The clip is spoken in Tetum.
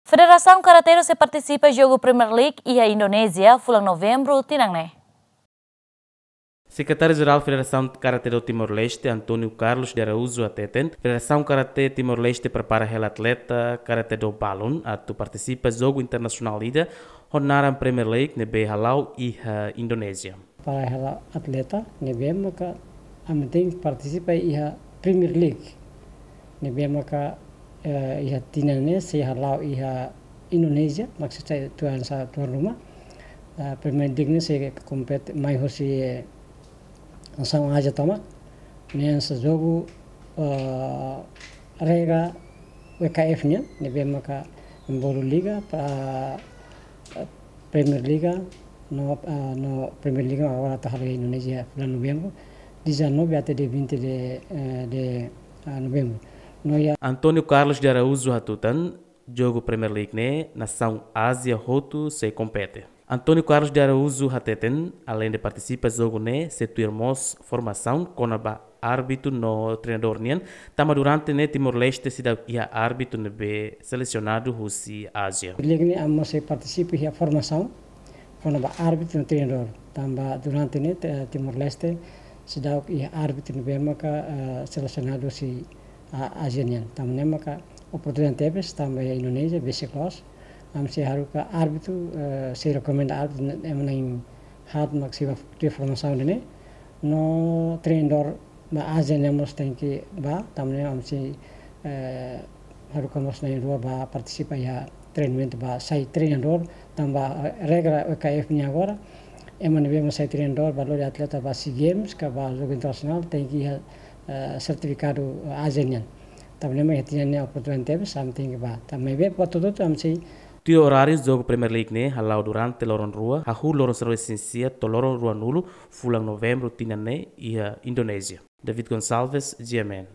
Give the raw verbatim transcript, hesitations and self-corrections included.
Federasaun Karate-Do sei partisipa jogu Premier League iha Indonézia, fulan Novembru tinan ne'e. Sekretáriu-Jerál Federasaun Karate-Do Timor-Leste, António Carlos de Araújo, hateten, Federasaun Karate Timor-Leste prepara hela atleta Karate-Do balun atu partisipa jogu internasionál ida ho naran Premier League ne'ebé hala'o iha Indonézia. Para hela atleta ne'ebé maka ami tenke partisipa iha Premier League ne'ebé maka, eh, iha tinan ne'e sei hala'o iha Indonézia, maksud saya tuan sa tuan rumah. Eh, Premier League ne'e sei kompete mai hosi, eh, nasaun Ázia tomak. Ne'e hanesan jogu, eh, regra W K F nian, ne'ebé maka envolve liga, pa, eh, Premier Liga, no, eh, no Premier Liga agora atu hala'o iha Indonézia fulan Novembru, dezanove até dia vinte de, eh, de, eh, Novembru. No iha António Carlos de Araújo hatutan, jogu Premier League ne'e nasaun Ázia hotu sei kompete. António Carlos de Araújo hateten, aleinde partisipa jogu ne'e, sei tuir mós formasaun kona-ba árbitru no treinadór nian, tanba durante ne'e Timor-Leste seidauk iha árbitru ne'ebé selesionadu husi Ázia. Liga ne'e ami mós sei partisipa iha formasaun kona-ba árbitru no treinadór. Tanba durante ne'e, eh, Timor-Leste seidauk iha árbitru ne'ebé maka, eh, selesionadu husi, ah, Ázia nian. Tanba ne'e maka oportunidade tebes, tanba iha Indonézia, basic laws. Ami sei haruka árbitru, eh, sei rekomenda árbitru ne'e, ema na'in haat mak sei bá tuir formasaun ne'e. No treinadór ba Ázia ne'e mós tenke bá, tanba ne'e ami sei, eh, haruka mós na'in rua bá partisipa iha treinamentu bá sai treinadór, tanba, eh, regra W K F nian agora, ema ne'ebé mak sai treinadór bá lori atleta ba SEA Games, ka ba jogu internasionál, tenke iha, eh, sertifikadu Ázia nian. Tanba ne'e mak iha tinan ne'e oportunidade tebes, ami tenke bá. Tanba ne'e ba hotu-hotu ami sei Tuir oráriu jogu Premier League ne'e hala'o durante loron rua, hahú loron sanulu-resin-sia to'o loron ruanulu, fulan Novembru tinan ne'e iha Indonézia. David Gonçalves, G M N.